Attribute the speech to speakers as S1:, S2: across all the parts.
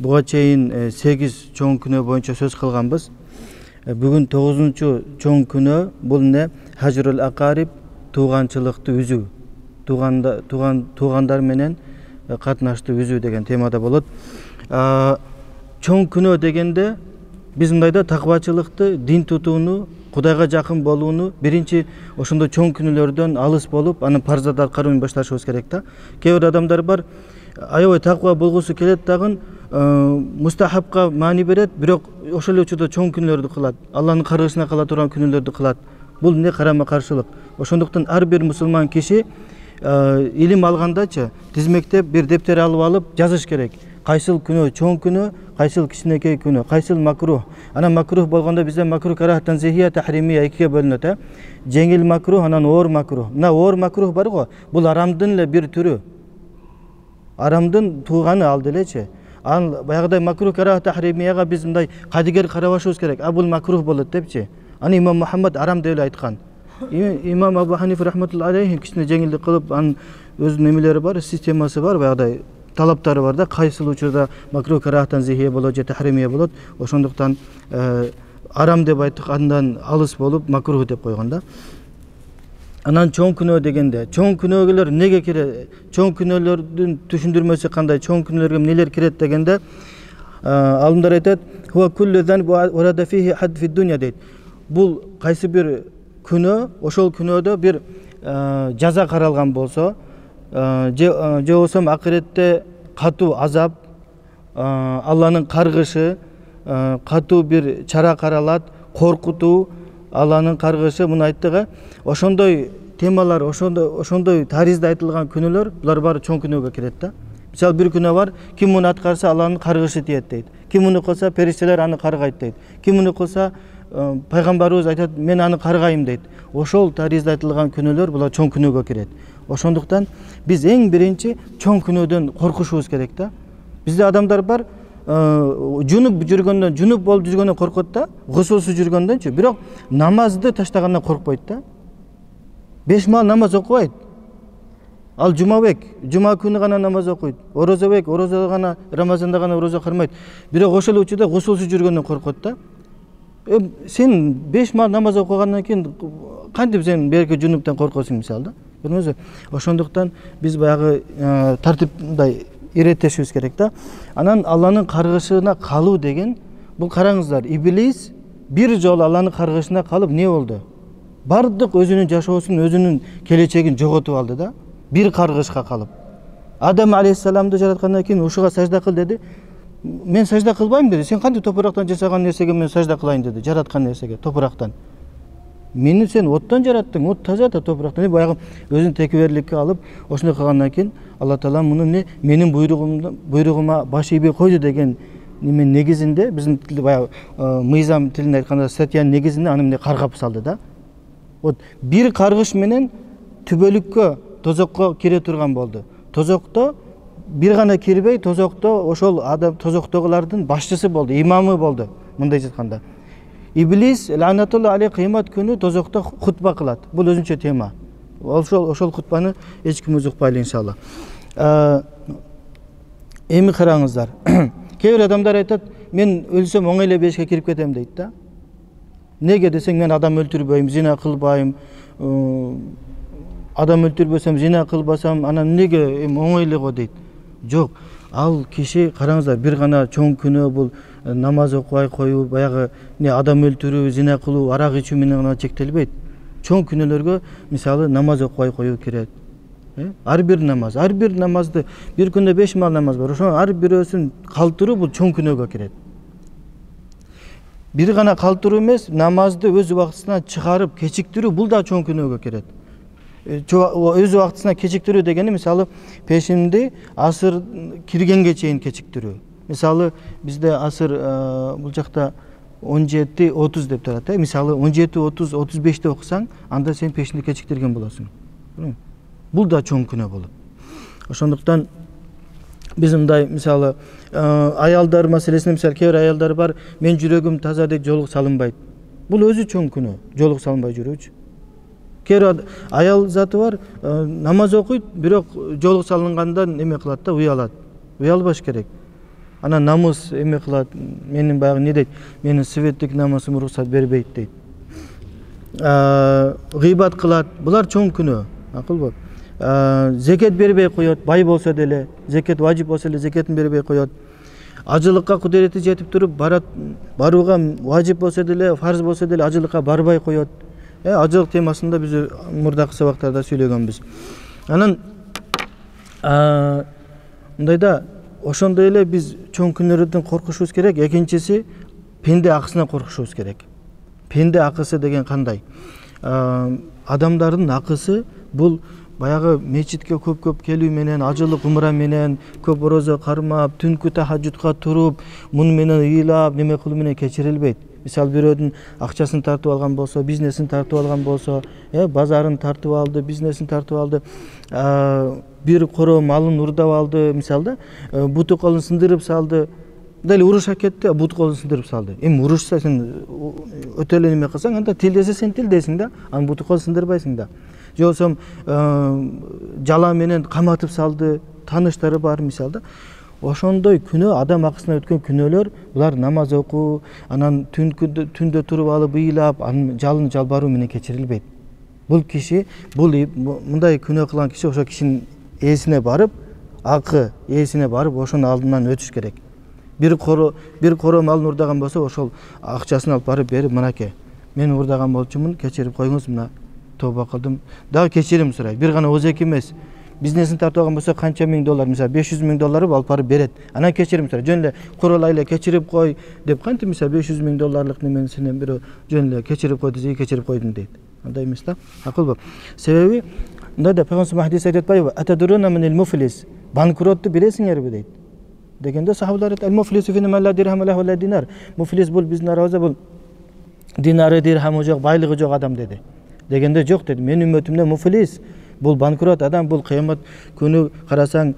S1: буга чейин 8 чоң күнөө боюнча сөз кылганбыз. Бүгүн 9-чу чоң күнөө бул эмне? Хажрул акариб, тууганчылыкты үзүү. Туугандар менен катнашты үзүү деген темада болот. Чоң күнөө дегенде биз мындайда такыбачылыкты, дин тутууну, Кудайга жакын болууну, биринчи ошондой чоң күнөөлөрдөн алыс болуп, анын парзат аткарууну башташыбыз керек да. Кээ бир адамдар бар, аябай такыба болгусу келет дагы, мустахабка маани берет, бирок ошол эле учурда чоң күнөөлөрдү кылат, Алланын каргышына кала турган күнөөлөрдү кылат. Бул эмне? Карама каршылык. Ошондуктан ар бир мусулман киши илим алгандачы тизмектеп бир дептер алып жазыш керек. Кайсыл күнөө чоң күнөө, кайсыл кичинекей күнөө, кайсыл макрух. Анан макрух болгондо бизде макрух карахтан зехия тахримия экиге бөлүнөт. Жеңил макрух, анан оор макрух. Мына оор макрух бар го, бул арамдын эле бир түрү. Арамдын тууганы ал делечи. Ал баягыдай макрух карах тахримияга биз мындай кадигер карабашыбыз керек. Бул макрух болот депчи. Аны имам Мухаммад арам деп эле айткан. Имам Абу Ханифа рахматуллахи алейхи кичине жеңилдик кылып, анын өзүнүн эмелери бар, системасы бар, баягыдай талаптары бар да, кайсыл учурда макрух карахтан зехия болот же тахримия болот. Ошондуктан арам деп айткандан алыс болуп макрух деп койгон да. Анан чоң күнөө дегенде, чоң күнөөлөр эмнеге кирет? Чоң күнөөлөрдүн түшүндүрмөсү кандай? Чоң күнөөлөргө эмнелер кирет дегенде, алымдар айтат, "Хуа куллу зан варада фихи хад фи дунья" дейт. Бул кайсы бир күнөө, ошол күнөөдө бир жаза каралган болсо, же болбосо акыретте катуу азап, Алланын каргышы, катуу бир чара каралат, коркутуу, Алланын каргышы, муну айттык. Ошондой темалар, ошондой таризде айтылган күнөөлөр, булар баары чоң күнөөгө кирет да. Мисалы бир күнөө бар, ким муну аткарса Алланын каргышы тиет дейт. Ким муну кылса периштелер аны каргайт дейт. Ким муну кылса пайгамбарыбыз айтат, мен аны каргайм дейт. Ошол таризде айтылган күнөөлөр булар чоң күнөөгө кирет. Ошондуктан биз эң биринчи чоң күнөөдөн коркушубуз керек да. Бизде адамдар бар, жунуп жүргөндөн, жунуп болуп жүргөндөн коркот да, гусулсуз жүргөндөнчү, бирок намазды таштагандан коркпойт да. 5 маал намаз окубайт. Ал жумабек, жума күнү гана намаз окуйт. Орозобек, орозо гана, Рамазанда гана орозо кармайт. Бирок ошол учурда гусулсуз жүргөндөн коркот да. Сен 5 маал намаз окугандан кийин кантип сен берки жунуптан коркосуң мисалы да. Көрдүңүзбү? Ошондуктан биз баягы тартиптай иреттешибиз керек да. Анан Алланын каргышына калуу деген, бул караңыздар, иблис бир жолу Алланын каргышына калып не болду? Бардык өзүнүн жашоосун, өзүнүн келечегин жоготуп алды да. Бир каргышка калып. Адам алейхиссаламды жараткандан кийин ушуга сажда кыл деди. Мен сажда кылбайм деди. Сен кантип топурактан жасаган нерсеге мен сажда кылайын деди, жараткан нерсеге, топурактан. Мени сен оттон жараттың, от таза да топурактан. Баягы өзүн текеберликке алып, ошондой кылгандан кийин Алла Таала муну менин буйругума баш ийбей койду деген немен негизинде, биздин тилде баягы мыйзам тилинде айтканда статьянын негизинде аны эмне каргап салды да. Вот бир каргыш менен түбөлүккө, тозокко кире турган болду. Тозокто бир гана кирбей, тозокто ошол адам тозоктогулардын башчысы болду, имамы болду, мындай айтканда. Иблис ланатулла алейхи кыямат күнү тозокто хутба кылат. Бул өзүнчө тема. Ошол хутбаны эч ким укпайлы иншалла. Эми караңыздар. Кээ бир адамдар айтат, мен өлсөм оңой эле бешке кирип кетем дейт да. Неге десең, мен адам өлтүрбөйм, зина кылбайм, адам өлтүрбөсөм, зина кылбасам, анан неге оңой эле го дейт. Жок, ал киши караңыздар, бир гана чоң күнөө бул намаз окубай коюу, баягы адам өлтүрүү, зина кылуу, арак ичүү менен гана чектелбейт. Чоң күнөөлөргө мисалы намаз окубай коюу кирет. Ар бир намазды, бир күндө 5 маал намаз бар. Ошо ар бирөөсүн калтыруу бул чоң күнөөгө кирет. Бир гана калтыруу эмес, намазды өз убактысына чыгарып кечиктирүү бул да чоң күнөөгө кирет. Өз убактысына кечиктирүү дегени мисалы пешимди асыр киргенге чейин кечиктирүү. Мисалы бизде асыр бул жакта 17:30 деп турат. Мисалы 17:30, 35-те окусаң, анда сен пешинди кечиктирген болосуң. Бул да чоң күнөө болот. Ошондуктан биз мындай мисалы аялдар маселесинде мисалы кээ бир аялдар бар, мен жүрөгүм таза дейт, жолук салынбайт. Бул өзү чоң күнөө, жолук салынбай жүрүүчү. Кээ бир аял заты бар, намаз окуйт, бирок жолук салынгандан эме кылат да, уялат. Уялбаш керек. анан намыс эме кылат, менин баягы не дейт, менин светтик намысым уруксат бербейт дейт. Гыйбат кылат, булар чоң күнөө, акылбы. Зекет бербей коет, бай болсо деле, зекет важип болсо эле зекетин бербей коет. Ажылыкка кудурети жетип туруп барууга важип болсо деле, фарз болсо деле ажылыкка барбай коет. Ажылык темасында биз мурдакы сабактарда сүйлөгөнбүз. Анан мындайда ошондой эле биз чоң күнөөрдөн коркушубуз керек. Экинчиси пенде акысынан коркушубуз керек. Пенде акысы деген кандай? Адамдардын акысы бул баягы мечитке көп келүү менен, ажылык умра менен, көп орозо кармап, түнкү тахажжудка туруп, муну менен ыйлап, неме кылуу менен кечирилбейт. Мисалы бирөөдүн акчасын тартып алган болсо, бизнесин тартып алган болсо, базарын тартып алды, бизнесин тартып алды, бир коро малын урдап алды, мисалы да, буту колун сындырып салды. Дали уруша кетти, буту колун сындырып салды. Эми урушса сен өтө эле неме кылсаң, анда тилдесе сен тилдейсиң да, анын буту колун сындырбайсың да. Же болсо жала менен каматып салды, тааныштары бар мисалы да. Ошондой күнөө, адам акысына өткөн күнөөлөр, булар намаз окуу, анан түндө туруп алып ыйлап, анын жалын жалбаруу менен кечирилбейт. Бул киши, мындай күнөө кылган киши ошо кишинин ээсине барып, акы ээсине барып, ошонун алдынан өтүш керек. Бир коро малын урдаган болсо, ошол акчасын алып барып берип, мынакей, мен урдаган болчумун, кечирип койуңуз, мына тооба кылдым. Дагы кечирим сурайт. Бир гана озек эмес. Бизнесин тартып алган болсо канча миң доллар, мисалы 500 миң долларды алып барып берет. Анан кечирим сурайт. Жөн эле курулай эле кечирип кой деп кантип, мисалы 500 миң долларлык неменин сенен бирөө жөн эле кечирип кой десе, кечирип койдум дейт. Андай эмес да. Акылбы. Себеби мындай Пайгамбар хадис айтып атпайбы? Атадуруна минал муфлис. Банкротту билесиңерби дейт. Дегенде сахабалар айтат: "Ал-муфлису фина ла дирхам ла ва динар." Муфлис бул биздин арабызда бул динары, дирхамы жок, байлыгы жок адам деди. Дегенде жок деди. Менин үммөтүмдө муфлис бул банкрот адам, бул кыямат күнү карасаң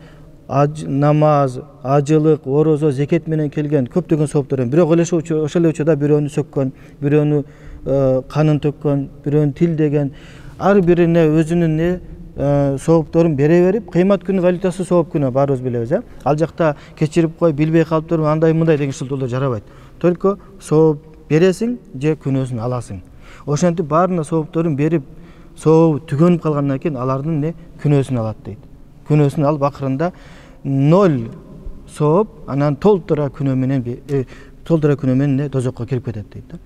S1: намаз, ажылык, орозо, зекет менен келген көптөгөн сооптор. Бирок ошол эле учурда бирөөнү сөккөн, бирөөнү канын төккөн, бирөөнү тилдеген, ар бирине өзүнүн соопторун бере берип, кыямат күнү валютасы сооп күнү баарыбыз билебиз, Ал жакта кечирип кой, билбей калыптыр, андай мындай деген шылтоолор жарабайт. Только сооп бересиң же күнөөсүн аласың. Ошентип баарына соопторун берип, соо түгөнүп калгандан кийин алардын күнөөсүн алат дейт. Күнөөсүн алып акырында 0 сооп, анан толтура күнөө менен тозокко кирип кетет дейт да.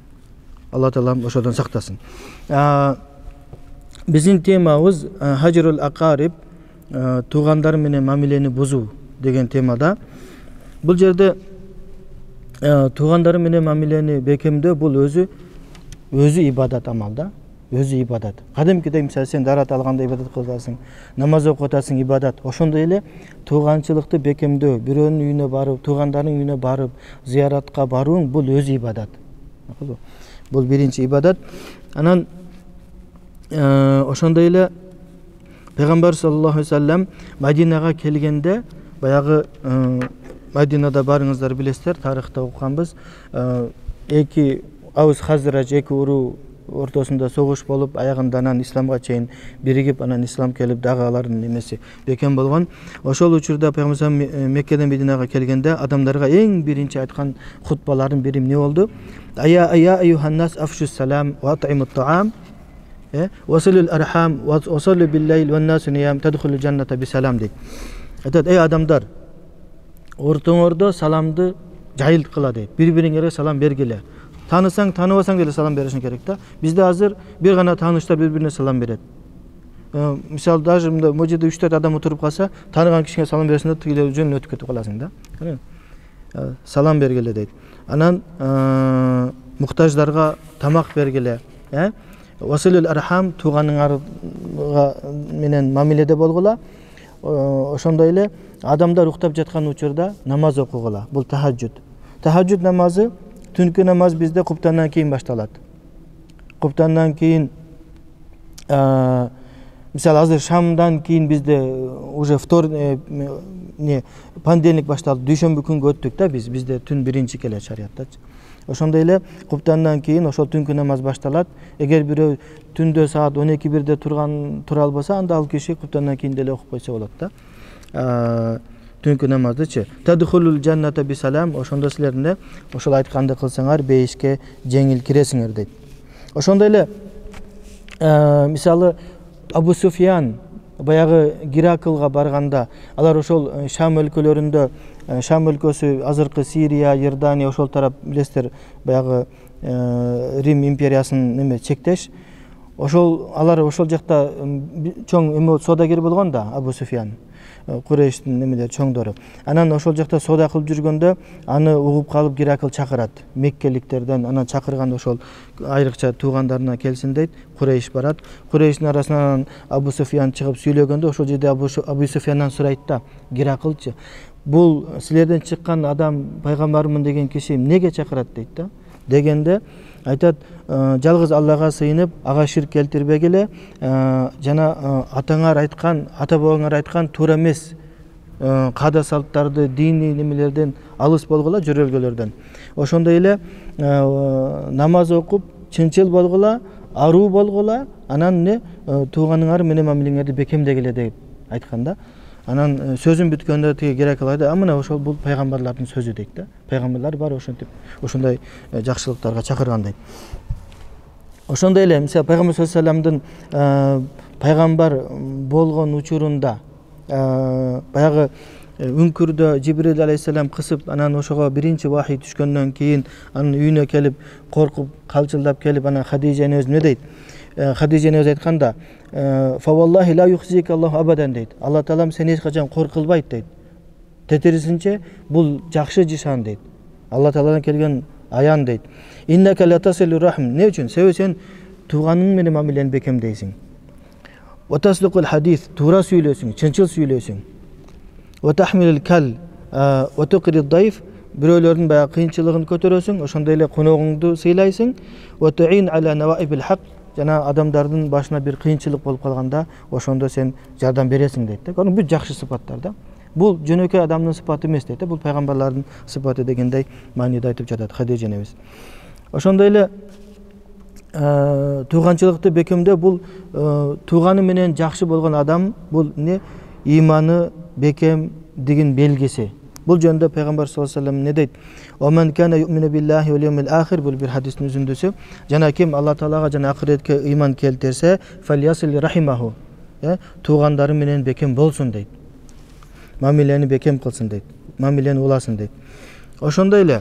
S1: Алла таалам ошодон сактасын. Биздин темабыз хажрул акариб, туугандар менен мамилени бузуу деген темада. Бул жерде туугандар менен мамилени бекемдөө бул өзү ибадат амал да. Өзү ибадат. Кадимкидей мисалы сен дарат алганда ибадат кыласың, намаз окуп атасың, ибадат. Ошондой эле тууганчылыкты бекемдөө, бирөөнүн үйүнө барып, туугандарынын үйүнө барып, зыяратка барууң бул өзү ибадат. Бул биринчи ибадат. Анан ошондой эле Пайгамбар саллаллаху алейхи ва саллям Мадинага келгенде, баягы Мадинада барыңыздар билесиздер, тарыхта окуганбыз. Эки Аус Хазрач эки уруу ортосунда согуш болуп, аягында анан исламга чейин биригип, анан ислам келип, дагы алардын немеси бекем болгон. Ошол учурда Пайгамбар Меккеден Мединага келгенде адамдарга эң биринчи айткан хутбаларын бири эмне болду? Ая айюханнас афшус салам ва ат'имут таам василул архам ва саллу биллайл ва насу ниям тадхулул жанната бисалам дейт. Айтат: "Эй адамдар, ортоңордо саламды жайылткыла" дейт. Бири-бириңерге салам бергиле. Танысаң, таныбасаң деле салам беришиң керек да. Бизде азыр бир гана тааныштар бири-бирине салам берет. Мисалы, даже мында можеде 3-4 адам отуруп калса, таныган кишиге салам бересиң да, тигилер жөн өтүп кетип каласың да. Салам бергиле дейт. Анан муктаждарга тамак бергиле. Василул архам, тууганыңарга менен мамиледе болгула. Ошондой эле адамдар уктап жаткан учурда намаз окугула. Бул тахажжуд. Тахажжуд намазы, түнкү намаз бизде куптандан кийин башталат. Куптандан кийин, мисалы азыр шамдан кийин бизде уже понедельник башталды, дүйшөмбү күнгө өттүк да бизде түн биринчи келет шариаттачы. Ошондой эле куптандан кийин ошол түнкү намаз башталат. Эгер бирөө түндө саат 12-1де тура албаса, анда ал киши куптандан кийин деле окуп койсо болот да. түнкү намаздычы. Тадхулул жанната бисалам, ошондо силер эмне ошол айтканды кылсаңар бейишке жеңил киресиңер дейт. Ошондой эле мисалы Абу Суфьян баягы Гераклга барганда, алар ошол Шам өлкөлөрүндө, Шам өлкөсү азыркы Сирия, Иордания ошол тарап билесиздер, баягы Рим империясынын неме чектеш. Ошол алар ошол жакта чоң эме содагер болгон да, Абу Суфьян. Курейштин немелер чоңдору. Анан ошол жакта соода кылып жүргөндө аны угуп калып Геракл чакырат. Меккеликтерден анан чакырганда ошол айрыкча туугандарына келсин дейт. Курейш барат. Курейштин арасынан Абу Суфьян чыгып сүйлөгөндө ошол жерде Абу Суфьяндан сурайт да, Гераклчы, бул силерден чыккан адам пайгамбармын деген киши эмнеге чакырат дейт да. Дегенде айтат, жалгыз Аллага сыйынып, ага ширк келтирбегиле, жана атаңар айткан, ата бабаңар айткан туура эмес каада салттарды, диний немелерден алыс болгула, жөрөлгөлөрдөн. Ошондой эле намаз окуп, чынчыл болгула, аруу болгула, анан эмне тууганыңар менен мамилеңерди бекемдегиле деп айткан да. Анан сөзүн бүткөндө тиги Геракл айтты, мына ошол бул пайгамбарлардын сөзү дейт да. Пайгамбарлар бар ошентип, ошондой жакшылыктарга чакырган дейт. Ошондой эле мисалы пайгамбар саллаллаху алейхи вассаламдын пайгамбар болгон учурунда баягы үңкүрдө Жибрил алейхиссалам кысып, анан ошого биринчи вахий түшкөндөн кийин анын үйүнө келип, коркуп, калчылдап келип, анан Хадижа энебиз эмне дейт? Хадижа энебиз айтканда, "Фаваллахи ла юхзика Аллаху абадан" дейт. Алла Таалам сени эч качан кор кылбайт дейт. Тетерисинче бул жакшы жишан дейт. Алла Тааладан келген аян дейт. "Иннака ла тасилу рахм", не үчүн? Себеби сен тууганың менен мамилени бекемдейсиң. "Ва таслукул хадис", туура сүйлөсүң, чынчыл сүйлөсүң. "Ва тахмилул кал", "Ва туqrid дайф", бирөөлөрдүн баягы кыйынчылыгын көтөрөсүң, ошондой эле коногуңду сыйлайсың. "Ва туин ала наваибил хак", жана адамдардын башына бир кыйынчылык болуп калганда, ошондо сен жардам бересиң дейт да. Бул жакшы сыпаттар да. Бул жөнөкөй адамдын сыпаты эмес дейт да, бул пайгамбарлардын сыпаты дегендей мааниде айтып жатат Хадижа энебиз. Ошондой эле тууганчылыкты бекемдөө, бул тууганы менен жакшы болгон адам, бул эмне? Иманы бекемдигин белгиси. Бул жөнүндө пайгамбар саллаллаху алейхи вассалам не дейт? "Оман кана юмину биллахи вал йавмил ахир", бул бир хадистин үзүндүсү. Жана ким Алла Таалага жана акыретке ыйман келтирсе, "Фальясил рахимаху", туугандары менен бекем болсун дейт. Мамилени бекем кылсын дейт. Мамилени уласын дейт. Ошондой эле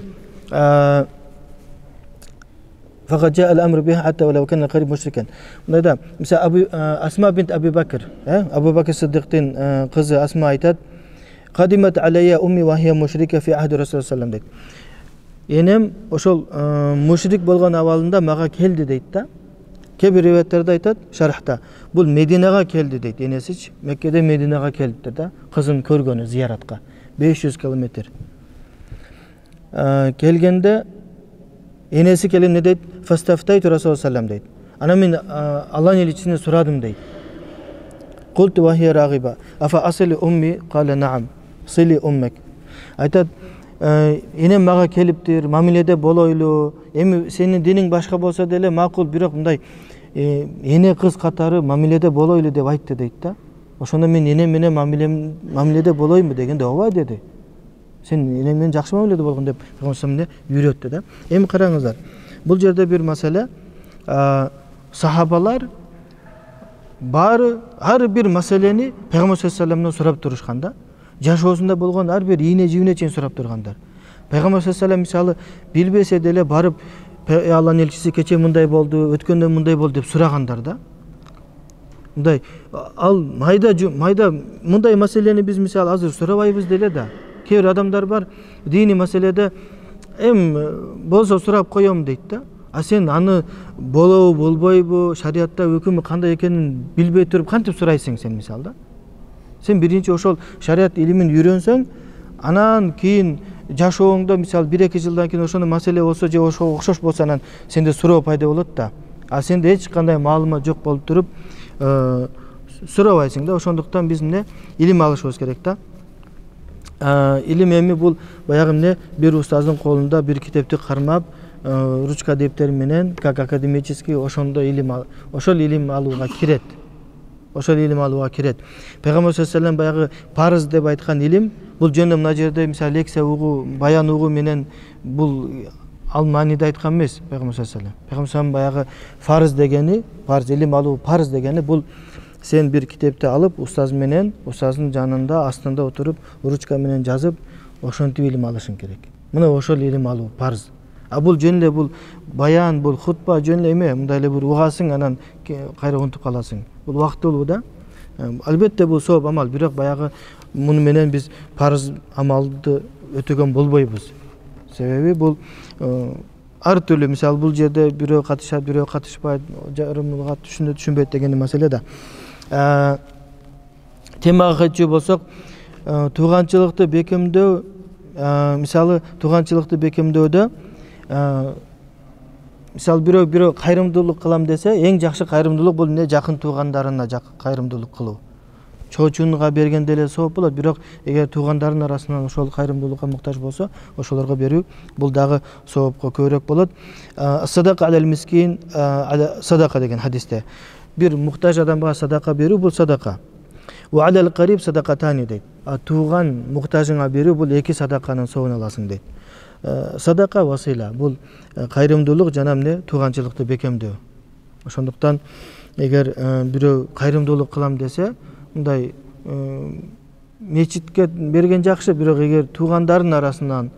S1: "Фaqad jaa al-amru biha hatta walau kana qarib mushrikan". Мындай мисалы Асма бинт Аби Бакр, Абу Бакр Сиддиктин кызы Асма айтат, "Qadimat alayya ummi wa hiya mushrika fi ahdi Rasulullah sallallahu alaihi wasallam". Энем ошол мушрик болгон абалында мага келди дейт да. Кээ бир риwayatтерде айтат, шархта, бул Мединага келди дейт. Энесич Меккеде Мединага келиптир да, кызын көргөнү зияратка. 500 километр. Келгенде энеси келип не дейт? "Фастафтайту Расулуллах саллаллаху алейхи дейт. Анан мен Алланын элчисине сурадым дейт. "Qultu wa hiya raghiba, afa asli ummi?" Qala na'am, "Sili ummak". Айтат, энем мага келиптир, мамиледе болойлу. Эми сенин диниң башка болсо деле макул, бирок мындай эне кыз катары мамиледе болойлу деп айтты дейт да. Ошондо мен энем менен мамиледе болойму дегенде, "Ооба" деди. "Сен энең менен жакшы мамиледе болгон" деп Пайгамбар үйрөттү да. Эми караңыздар, бул жерде бир маселе, сахабалар баары ар бир маселени Пайгамбар саллаллаху алейхи вассаламдан сурап турушкан да. Жашоосунда болгон ар бир ийне жибине чейин сурап тургандар. Пайгамбар саллаллаху алейхи вассалам мисалы билбесе деле барып, "Алланын элчиси кече мындай болду, өткөндө мындай болду" деп сурагандар да. Мындай ал майда мындай маселени биз мисалы азыр сурабайбыз деле да. Кээ бир адамдар бар, диний маселеде болсо сурап коем дейт да. А сен аны болобу, болбойбу, шариатта өкүмү кандай экенин билбей туруп кантип сурайсың сен мисалы да? Сен биринчи ошол шариат илимин үйрөнсөң, анан кийин жашооңдо мисалы 1-2 жылдан кийин ошондой маселе болсо же ошого окшош болсо, анан сенде суроо пайда болот да. А сенде эч кандай маалымат жок болуп туруп сурабайсың да. Ошондуктан биз илим алышыбыз керек да. Илим эми бул баягы бир устаздын колунда бир китепти кармап, ручка дептер менен, как академический ошондо ошол илим алууга кирет. ошол илим алууга кирет. Пайгамбар саллаллаху алейхи вассалам баягы парыз деп айткан илим бул жөнүндө мына жерде мисалы лекция угуу, баян угуу менен бул ал мааниде айткан эмес Пайгамбар саллаллаху алейхи вассалам. Пайгамбар саллаллаху баягы парыз дегени, парыз илим алуу парыз дегени бул сен бир китепти алып устаз менен, устаздын жанында астында отуруп ручка менен жазып ошентип илим алышың керек. Мына ошол илим алуу парыз. А бул жөн эле бул баян, бул хутба жөн эле эме, мындай эле бир угасың анан кайра унутуп каласың. Бул убактылуу да. Албетте бул сооп амал, бирок баягы муну менен биз парыз амалды өтөгөн болбойбуз. Себеби бул ар түрлүү, мисалы бул жерде бирөө катышат, бирөө катышпайт, жарымга түшүнбөйт деген маселе да. Темага кайтчу болсок, тууганчылыкты бекемдөө, мисалы тууганчылыкты бекемдөөдө мисалы бирөө кайрымдуулук кылам десе, эң жакшы кайрымдуулук бул эмне? Жакын туугандарына кайрымдуулук кылуу. Чоочунга бергенде эле сооп болот, бирок эгер туугандарынын арасынан ошол кайрымдуулукка муктаж болсо, ошолорго берүү бул дагы соопко көбүрөөк болот. Садака алал мискин, садака деген хадисте бир муктаж адамга садака берүү бул садака. Ва алал кариб садакатани дейт. Тууган муктажыңа берүү бул эки садаканын сообун аласың дейт. Садака васила бул кайрымдуулук жана эмне? Тууганчылыкты бекемдөө. Ошондуктан эгер бирөө кайрымдуулук кылам десе, мындай мечитке берген жакшы, бирок эгер туугандарынын арасынан,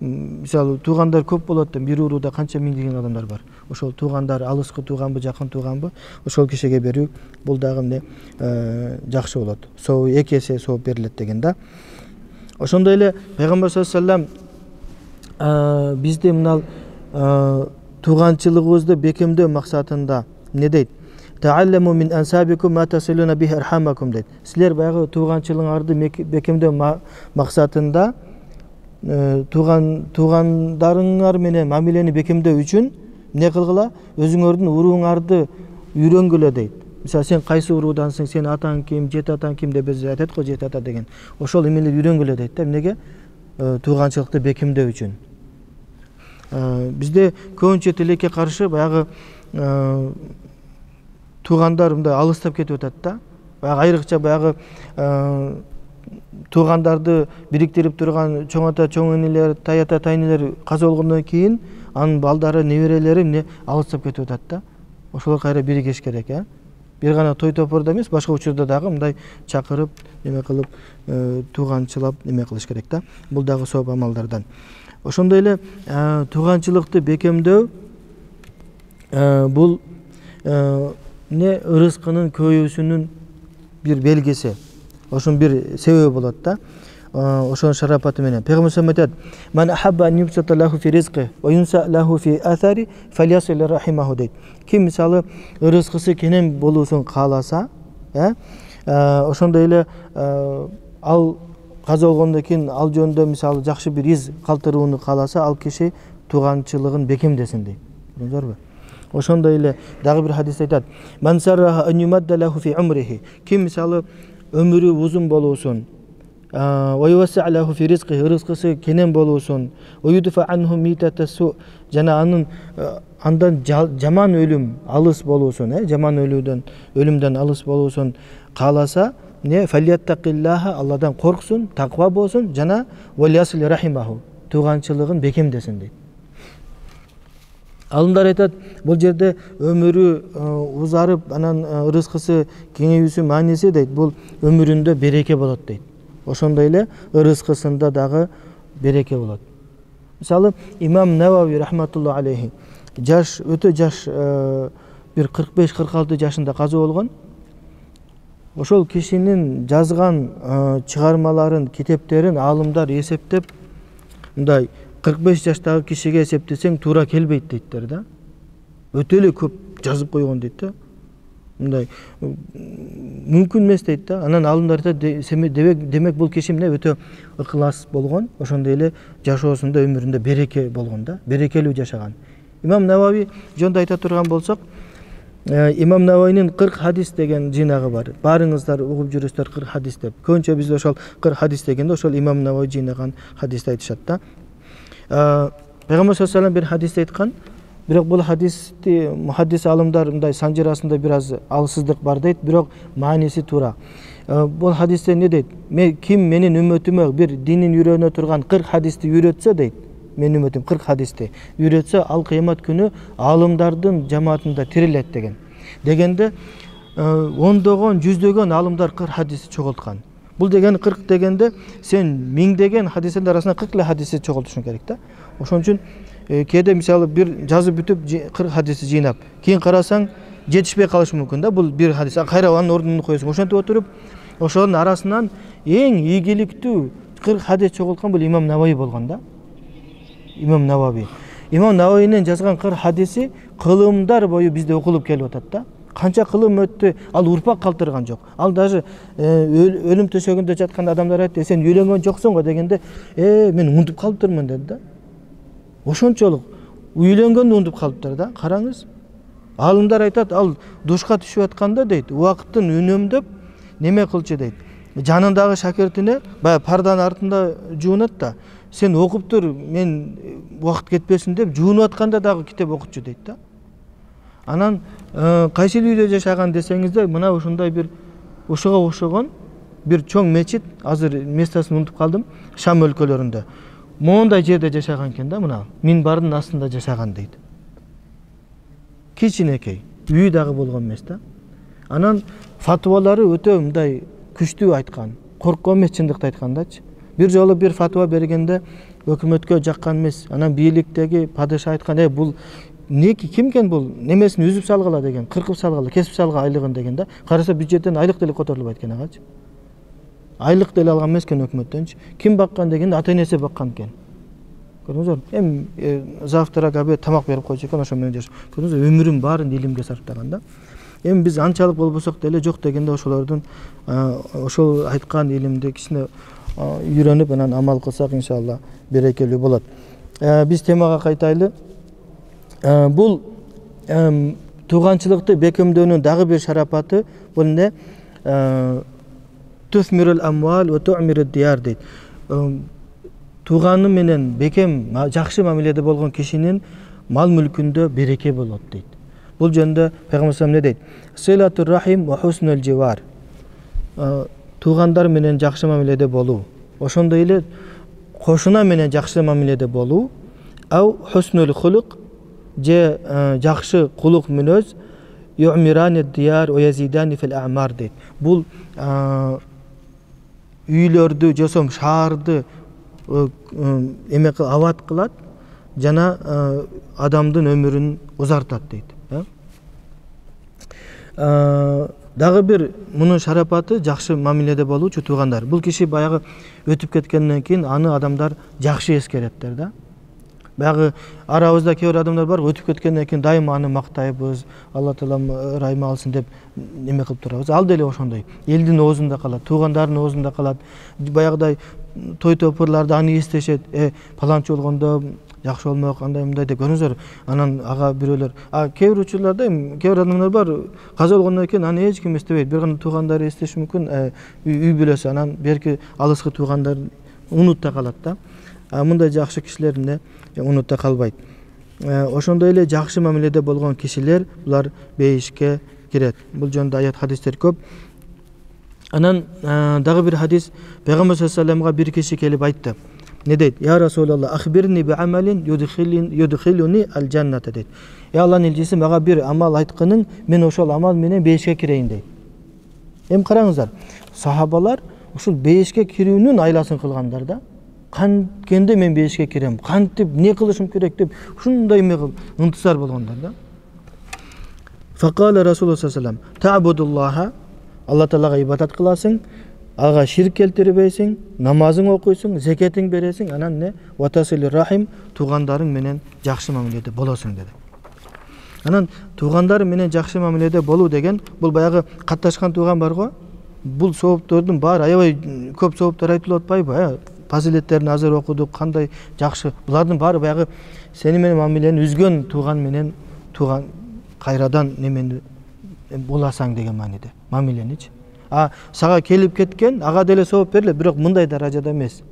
S1: мисалы туугандар көп болот да, бир урууда канча миңдеген адамдар бар. Ошол туугандар алыскы тууганбы, жакын тууганбы, ошол кишиге берүү бул дагы эмне жакшы болот. Соо эки эсе сооп берилет деген да. Ошондой эле Пайгамбар саллаллаху алейхи вассалам бизди мына тууганчылыгыбызды бекемдөө максатында эмне дейт? Таалламу мин ансабикум ма тасилуна бихи архамакум дейт. Силер баягы тууганчылыгыңарды бекемдөө максатында туугандарыңар менен мамилени бекемдөө үчүн эмне кылгыла? Өзүңөрдүн урууңарды үйрөнгүлө дейт. Мисалы сен кайсы уруудансың, сен атаң ким, жет атаң ким деп биз айтат го, жет ата деген. Ошол эмелерди үйрөнгүлө дейт да. Эмнеге? Тууганчылыкты бекемдөө үчүн. Бизде көбүнчө тилекке каршы баягы туугандар мындай алыстап кетип атат да. Баягы айрыкча баягы туугандарды бириктирип турган чоң ата, чоң энелер, тай ата, тайнелер каза болгондон кийин анын балдары, неберелери эмне алыстап кетип атат да. Ошолор кайра биригиш керек, бир гана той топордо эмес, башка учурда дагы мындай чакырып, эме кылып, тууганчылап эме кылыш керек да. Бул дагы сооп амалдардан. Ошондой эле тууганчылыкты бекемдөө бул эмне ырыскынын көбөйүүсүнүн бир белгиси. Ошонун бир себеби болот да. Ошонун шарапаты менен Пайгамбар саллаллаху алейхи вассалам айтат: "Ман ахабба ан юбсата лаху фи ризқи ва юнса лаху фи атари фалясил рахимаху" дейт. Ким мисалы ырыскысы кенен болуусун кааласа, ошондой эле ал каза болгондон кийин ал жөнүндө мисалы жакшы бир из калтырууну кааласа, ал киши тууганчылыгын бекемдесин дейт. Көрдүңүзбү? Ошондой эле дагы бир хадисте айтат: "Ман сарраха ан юмадда лаху фи умрихи" ким мисалы өмүрү узун болуусун, ва ювасса лаху фи ризқи ырыскысы кенен болуусун, ва юдфа анху митатасу жана андан жаман өлүм алыс болуусун, жаман өлүмдөн алыс болуусун кааласа, не фалияттакиллаха Алладан корксун, таква болсун жана валиясил рахимаху тууганчылыгын бекемдесин дейт. Алымдар айтат, бул жерде өмүрү узарып, анан ырыскысы кеңейүүсү мааниси дейт, бул өмүрүндө береке болот дейт. Ошондой эле ырыскысында дагы береке болот. Мисалы имам Навави рахматуллаху алейхи жаш, өтө жаш, бир 45-46 жашында каза болгон. Ошол кишинин жазган чыгармаларын, китептерин алымдар эсептеп, мындай 45 жаштагы кишиге эсептесең туура келбейт дейттер да. Өтө эле көп жазып койгон дейт да. Мындай мүмкүн эмес дейт да. Анан алымдар айтат, демек бул киши эмне өтө ыкылас болгон, ошондой эле жашоосунда өмүрүндө береке болгон да, берекелүү жашаган. Имам Навави жөнүндө айта турган болсок, Имам Наваинин 40 хадис деген жыйнагы бар. Баарыңыздар угуп жүрөсүздөр 40 хадис деп. Көбүнчө бизде ошол 40 хадис дегенде ошол Имам Наваи жыйнаган хадисти айтышат да. Пайгамбар саллаллаху алейхи вассалам бир хадисте айткан, Бирок бул хадисти мухаддис алымдар мындай санжырасында бир аз алсыздык бар дейт, бирок мааниси туура. Бул хадисте не дейт? Ким менин үммөтүмө бир динин үйрөнө турган 40 хадисти үйрөтсө дейт, менин үммөтүм 40 хадисти үйрөтсө, ал кыямат күнү алымдардын жамаатында тирилет деген. Дегенде ондогон, жүздөгөн алымдар 40 хадисти чогулткан. Бул деген 40 дегенде сен миңдеген хадистердин арасынан 40 эле хадисти чогултушуң керек да. Ошон үчүн кээде мисалы бир жазып бүтүп 40 хадисти жыйнап, кийин карасаң жетишпей калышы мүмкүн да. Бул бир хадис, кайра анын ордуна коесуң. Ошентип отуруп, ошонун арасынан эң ийгиликтүү 40 хадис чогулткан бул Имам Наваи болгон да. Имам Наваи. Имам Наваинин жазган 40 хадиси кылымдар бою бизде окулуп келип атат да. Канча кылым өттү, ал урпак калтырган жок. Ал даже өлүм төшөгүндө жаткан адамдар айтты, сен үйлөнгөн жоксуң го дегенде, мен унутуп калыптырмын деди да. Ошончолук үйлөнгөндү унутуп калыптыр да. Караңыз. Алымдар айтат, ал душка түшүп атканда дейт, убакыттын үнөмдөп неме кылчу дейт. Жанындагы шакиртине баягы парданын артында жуунат да. Сен окуп тур, мен убакыт кетпесин деп жуунуп атканда дагы китеп окутчу дейт да. Анан кайсыл үйдө жашаган десеңиздер, мына ушундай бир ушуга окшогон бир чоң мечит, азыр местосын унутуп калдым, Шам өлкөлөрүндө. Моундай жерде жашаган экен да, мына минбардын астында жашаган дейт. Кичинекей, үйү дагы болгон эмес да. Анан фатвалары өтө мындай күчтүү айткан, корккон эмес, чындыкты айткандачы. Бир жолу бир фатва бергенде өкмөткө жаккан эмес. Анан бийликтеги падыша айткан, бул кимкен бул немесин үзүп салгыла деген, кыркып салгыла, кесип салгыла айлыгын деген да. Караса бюджеттен айлык деле которулбайт экен агачы. Айлык деле алган эмес экен өкмөттөнчү. Ким баккан дегенде ата-энеси баккан экен. Көрдүңүзбү? Завтрак, обед, тамак берип койчу экен, ошо менен жашап. Көрдүңүзбү? Өмүрүн баарын илимге сарптаган да. Биз анчалык болбосок деле жок дегенде ошолордун ошол айткан илимди кичине үйрөнүп, анан амал кылсак иншалла берекелүү болот. Биз темага кайтайлы. Бул тууганчылыкты бекемдөөнүн дагы бир шарапаты бул эмне? Тусмирул амвал ва ту'мирud diyar дейт. Тууганы менен бекем, жакшы мамиледе болгон кишинин мал мүлкүндө береке болот дейт. Бул жөнүндө Пайгамбар саллаллаху алейхи дейт: "Силатур рахим ва хуснул живар." Туугандар менен жакшы мамиледе болуу, ошондой эле кошуна менен жакшы мамиледе болуу, ау хуснул хулук же жакшы кулук мүнөз, ю'миранid diyar ва yazidani fil a'mar дейт. Бул үйлөрдү, жосом шаарды эме абат кылат жана адамдын өмүрүн узартат дейт. Дагы бир мунун шарапаты жакшы мамиледе болуучу туугандар. Бул киши баягы өтүп кеткенден кийин аны адамдар жакшы эскереттер да. Баягы арабызда кээ бир адамдар бар, өтүп кеткенден кийин дайыма аны мактайбыз, Алла таалам ырайым алсын деп неме кылып турабыз. Ал деле ошондой. Элдин оозунда калат, туугандардын оозунда калат. Баягыдай той топурларда аны эстешет. Паланчы болгондо жакшы болмок, андай мындай деп көрүңүздөр. Анан ага бирөөлөр, кээ бир учурларда кээ бир адамдар бар, каза болгондон кийин аны эч ким эстебейт. Бир гана туугандары эстеши мүмкүн, үй бүлөсү. Анан берки алыскы туугандар унутта калат да. Мындай жакшы кишилер унутта калбайт. Ошондой эле жакшы мамиледе болгон кишилер булар бейишке кирет. Бул жөнүндө аят хадистер көп. Анан дагы бир хадис, Пайгамбар саллаллаху алейхи вассаламга бир киши келип айтты. Не дейт? Я Расулаллах, ахбирни би амалин юдхилуни аль-джанната дейт. Алланын элчиси, мага бир амал айткының, мен ошол амал менен бейишке кирейин дейт. Караңыздар, сахабалар ушул бейишке кирүүнүн айласын кылгандар да. Канткенде мен бейишке кирем, кантип не кылышым керек деп ушундай ынтызар болгондар да. Факала Расулуллах саллаллаху алейхи ва саллям, та'будуллаха, Алла таалага ибадат кыласың, ага ширк келтирбейсиң, намазың окуйсуң, закетиң бересиң, анан не? Ватасилир рахим, туугандарың менен жакшы мамиледе болосуң деди. Анан туугандар менен жакшы мамиледе болуу деген, бул баягы катташкан тууган бар го, бул сооптордун баары аябай көп сооптор айтылып атпайбы? Фазилеттерин азыр окудук, кандай жакшы. Булардын баары баягы сени менен мамилени үзгөн тууган менен тууган кайрадан немени боласаң деген мааниде. Мамиленичи. Сага келип кеткен, ага деле сооп берилет, бирок мындай даражада эмес.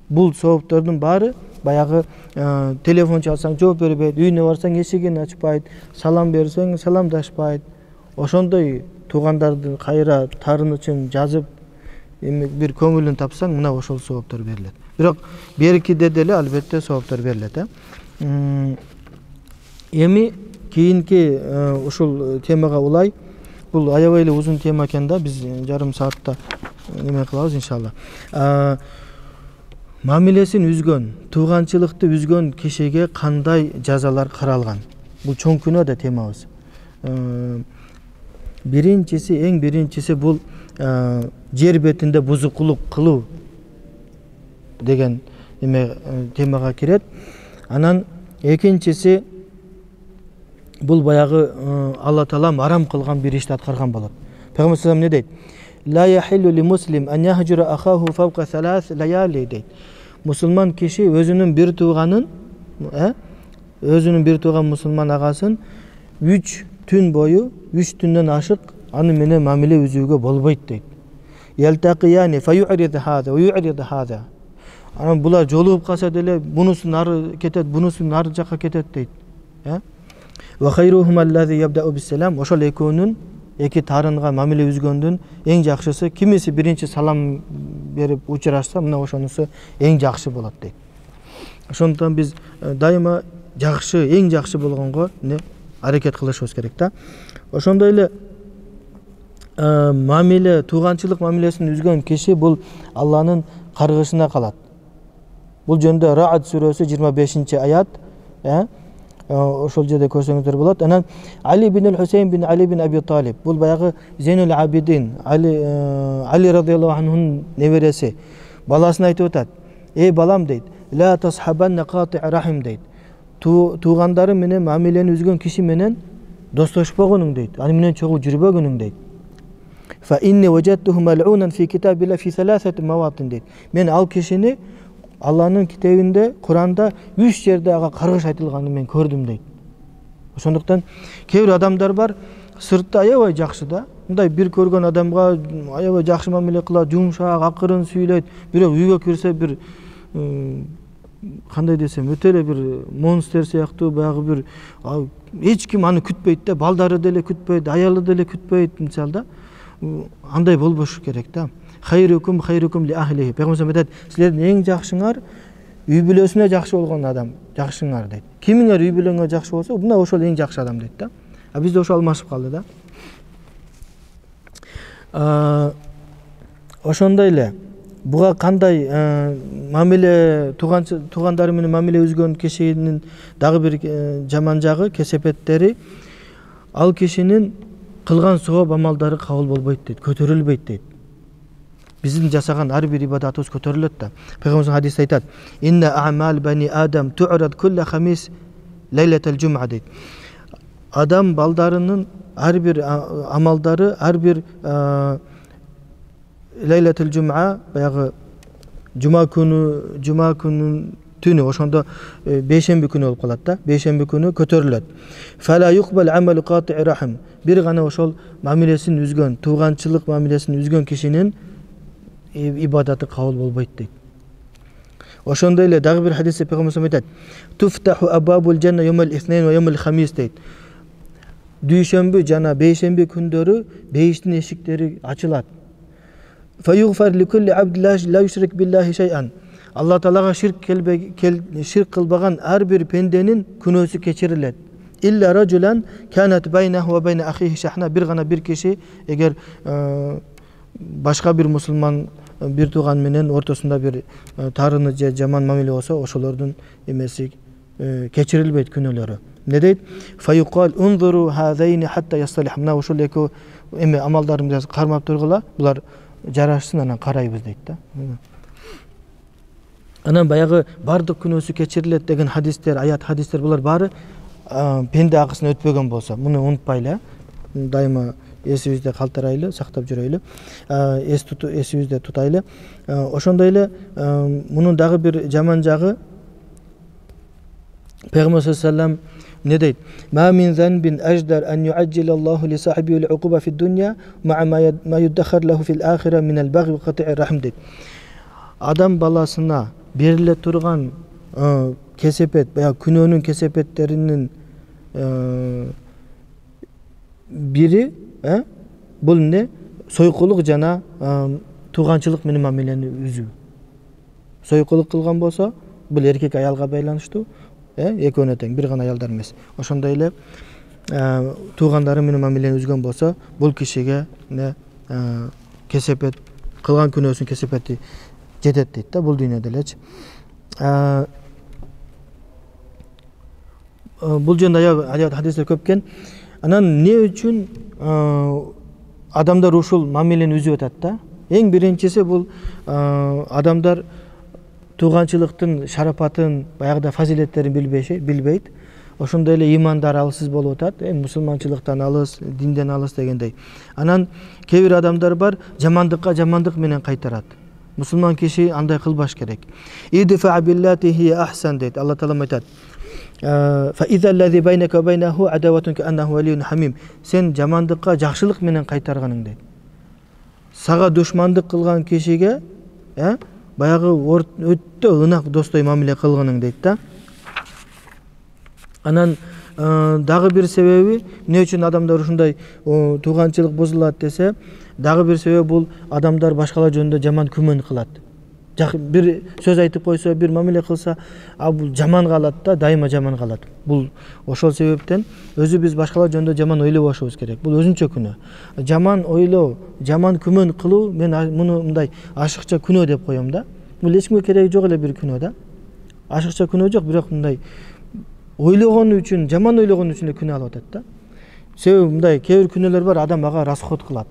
S1: Бул сооптордун баары баягы телефон чалсаң жооп бербейт, үйүнө барсаң эшигин ачпайт, салам берсең саламдашпайт. Ошондой туугандарды кайра таарынычын жазып бир көңүлүн тапсаң, мына ошол сооптор берилет. Бирок беркиде деле албетте сооптор берилет. Эми кийинки ушул темага улай. Бул аябай эле узун тема экен да, биз жарым саатта неме кылабыз иншалла. Мамилесин үзгөн, тууганчылыкты үзгөн кишиге кандай жазалар каралган? Бул чоң күнөө да темабыз. Эң биринчиси бул жер бетинде бузукулук кылуу деген темага кирет. Анан экинчиси бул баягы Алла Таалам арам кылган бир ишти аткарган болот. Пайгамбар саллаллаху алейхи вассалам не дейт? Ла яхиллу ли муслим ан яхжура ахаху фавка салас лаяли дейт. Мусулман киши өзүнүн бир тууган мусулман агасын 3 түн бою, 3 түндөн ашык аны менен мамиле үзүүгө болбойт дейт. Ялтaqiyani fayu'rid hada wa yu'rid hada. Анан булар жолугуп калса деле бунусу нары кетет, бунусу нары жакка кетет дейт. Ва хайруhum allazi yabda'u bis-salam. Ошол экөөнүн эки тарынга мамиле үзгөндүн эң жакшысы кимиси биринчи салам берип учурашса, мына ошонусу эң жакшы болот дейт. Ошондон биз дайыма жакшы, эң жакшы болгонго аракет кылышыбыз керек да. Ошондой эле мамиле, тууганчылык мамилесин үзгөн киши бул Алланын каргышына калат. Бул жөндө Ра'д сүрөсү 25-аят, ошол жерде көрсөңүздөр болот. Анан Али бин Хусейн бин Али бин Аби Талиб, бул баягы Зейнул Абидин, Али радыйаллаху анхунун небереси, баласына айтып атат: "Эй балам" дейт, "Ла тасхабанна кати' рахим" дейт. Туугандары менен мамилени үзгөн киши менен достошпогонуң дейт. Аны менен чогуу жүрбөгөнүң дейт. Fa inni wajadtuhu mal'unan fi kitabillah fi thalathati mawatin дейт. Мен ал кишини Алланын китебинде, Куранда 3 жерде ага каргыш айтылганын мен көрдүм дейт. Ошондуктан кээ бир адамдар бар, сыртта аябай жакшы да. Мындай бир көргөн адамга аябай жакшы мамиле кылат, жумшак, акырын сүйлөйт. Бирок үйгө кирсе бир кандай десем, өтө эле бир монстр сыяктуу, баягы бир эч ким аны күтпөйт да, балдары деле күтпөйт, аялы деле күтпөйт мисалы да. Андай болбошу керек да. Хайрукум ли ахлихи. Пайгамбар айтат, силердин эң жакшыңар үй бүлөсүнө жакшы болгон адам, жакшыңар дейт. Кимиңер үй бүлөңө жакшы болсо, мына ошол эң жакшы адам дейт да. Бизде ошол алмашып калды да. Ошондой эле буга кандай мамиле туугандары менен мамиле үзгөн кишинин дагы бир жаман жагы, кесепеттери, ал кишинин кылган сооп амалдары кабыл болбойт дейт, көтөрүлбөйт дейт. Биздин жасаган ар бир ибадатыбыз көтөрүлөт да. Пайгамбар хадисте айтат: "Инна a'mal bani Adam tu'rad kull khamis laylatal jum'a" дейт. Адам балдарынын ар бир амалдары ар бир лейлатул жум'a, баягы жума күнүнүн түнү, ошондо бейшемби күнү болуп калат да. Бейшемби күнү көтөрүлөт. Фала yuqbal amalu qati' rahim. Бир гана ошол мамилесин үзгөн, тууганчылык мамилесин үзгөн кишинин ибадаты кабыл болбойт дейт. Ошондой эле дагы бир хадисте Пайгамбар айтат: "Туфтаху абабул жанна yawmal ithnain wa yawmal khamis" дейт. Дүйшөмбү жана бейшемби күндөрү бейиштин эшиктери ачылат. Фаюгфар ли кулли абд ла юшрик биллахи шай'ан. Алла Таалага ширк кылбаган ар бир пенденин күнөөсү кечирилет. Илля раджулан канат байнаху ва байна ахихи шахна. Бир гана бир киши эгер башка бир мусулман бир тууган менен ортосунда бир тарыны же жаман мамиле болсо, ошолордун эмеси кечирилбейт, күнөөлөрү. Не дейт? Фаюқал унзуру хазайни хатта ясталих. Мына ошол эки амалдарымды кармап тургула, булар жарашсын, анан карайбыз дейт да. Анан баягы бардык күнөөсү кечирилет деген хадистер, аят хадистер, булар баары пенде акысын өтпөгөн болсо, муну унутпайлы, дайыма эсибизде калтырайлы, сактап жүрөйлү, эсибизде тутайлы. Ошондой эле мунун дагы бир жаман жагы, Пайгамбар саллаллаху алейхи вассалам не дейт? Ма мин занбин аждар ан юаджил Аллаху ли сахибил уқуба фи дунья ма юддахар лаху фил ахира мин ал-баги ва кати'ир рахм дейт. Адам баласына бериле турган кесепет, баягы күнөөнүн кесепеттеринин бири бул эмне? Сойкулук жана тууганчылык менен мамилени үзүү. Сойкулук кылган болсо, бул эркек аялга байланыштуу, экөөнө тең, бир гана аялдар эмес. Ошондой эле туугандары менен мамилени үзгөн болсо, бул кишиге кесепет, кылган күнөөсүнүн кесепети жетет дейт да, бул дүйнөдө элечи. Бул жөнүндө аябай хадистер көп экен. Анан эмне үчүн адамдар ушул мамилени үзүп атат да? Эң биринчиси бул адамдар тууганчылыктын шарапатын, баягыда фазилеттерин билбейт. Ошондой эле имандары алсыз болуп атат, мусулманчылыктан алыс, динден алыс дегендей. Анан кээ бир адамдар бар, жамандыкка жамандык менен кайтарат. Мусулман киши андай кылбаш керек. Идфа биллати хия ахсан дейт. Алла таала айтат. Fa iza allazi baynaka wa baynahu adawatun ka'annahu waliyyun hamim. Сен жамандыкка жакшылык менен кайтарганың дейт. Сага душмандык кылган кишиге, баягы өтө ынак достой мамиле кылганың дейт да. Анан дагы бир себеби, эмне үчүн адамдар ушундай тууганчылык бузулат десе, дагы бир себеби бул адамдар башкалар жөнүндө жаман күмөн кылат. Бир сөз айтып койсо, бир мамиле кылса, бул жаман калат да, дайыма жаман калат. Бул ошол себептен өзүбүз башкалар жөнүндө жаман ойлобошубуз керек. Бул өзүнчө күнөө. Жаман ойлоо, жаман күмөн кылуу, мен муну мындай ашыкча күнөө деп коем да. Бул эч кимге кереги жок эле бир күнөө да. Ашыкча күнөө жок, бирок мындай ойлогон үчүн, жаман ойлогон үчүн эле күнөө алып атат да. Себеби мындай кээ бир күнөөлөр бар, адам ага расход кылат.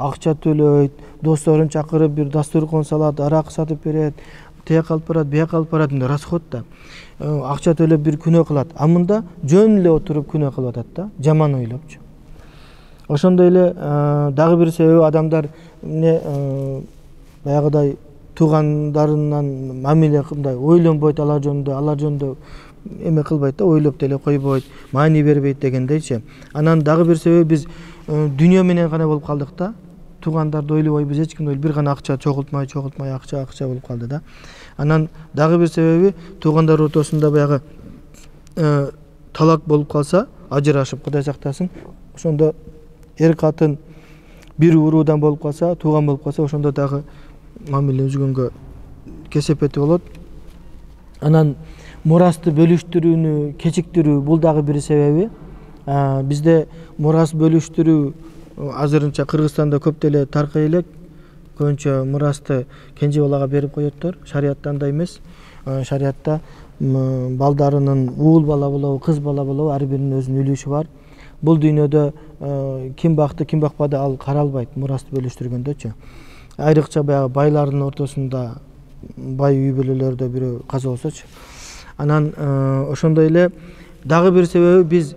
S1: Акча төлөйт, досторун чакырып бир дастуркон салат, арак сатып берет, тияк алып барат, бияк алып барат, мындай расход да. Акча төлөп бир күнөө кылат. А мында жөн эле отуруп күнөө кылып атат да, жаман ойлопчу. Ошондой эле дагы бир себеби адамдар баягыдай туугандарынан мамиле мындай ойлонбойт, алар жөнүндө эме кылбайт да, ойлоп деле койбойт, маани бербейт дегендейчи. Анан дагы бир себеби биз дүйнө менен гана болуп калдык да. Туугандарды ойлобойбуз, эч кимди бир гана акча чогултмай акча болуп калды да. Анан дагы бир себеби туугандар ортосунда баягы талак болуп калса, ажырашып, Кудай сактасын, ошондо эр катын бир уруудан болуп калса, тууган болуп калса, ошондо дагы мамиле үзгөнгө кесепети болот. Анан мурасты бөлүштүрүүнү кечиктирүү, бул дагы бир себеби. Бизде мурас бөлүштүрүү азырынча Кыргызстанда көп деле таркай элек. Көбүнчө мурасты кенже балага берип коёттор. Шариятта андай эмес. Шариятта балдарынын уул бала болобу, кыз бала болобу, ар биринин өзүнүн үлүшү бар. Бул дүйнөдө ким бакты, ким бакпады, ал каралбайт мурасты бөлүштүргөндөчү. Айрыкча баягы байлардын ортосунда, бай үй бүлөлөрдө бирөө каза болсочу. Анан ошондой эле дагы бир себеби биз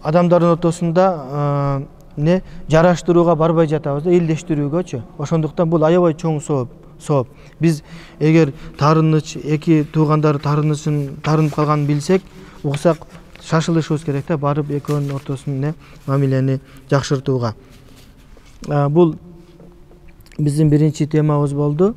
S1: адамдардын ортосунда жараштырууга барбай жатабыз да, элдештирүүгөчү. Ошондуктан бул аябай чоң сооп. Биз эгер таарыныч, эки туугандар таарынып калганын билсек, уксак шашылышыбыз керек да, барып экөөнүн ортосун мамилени жакшыртууга. Бул биздин биринчи темабыз болду.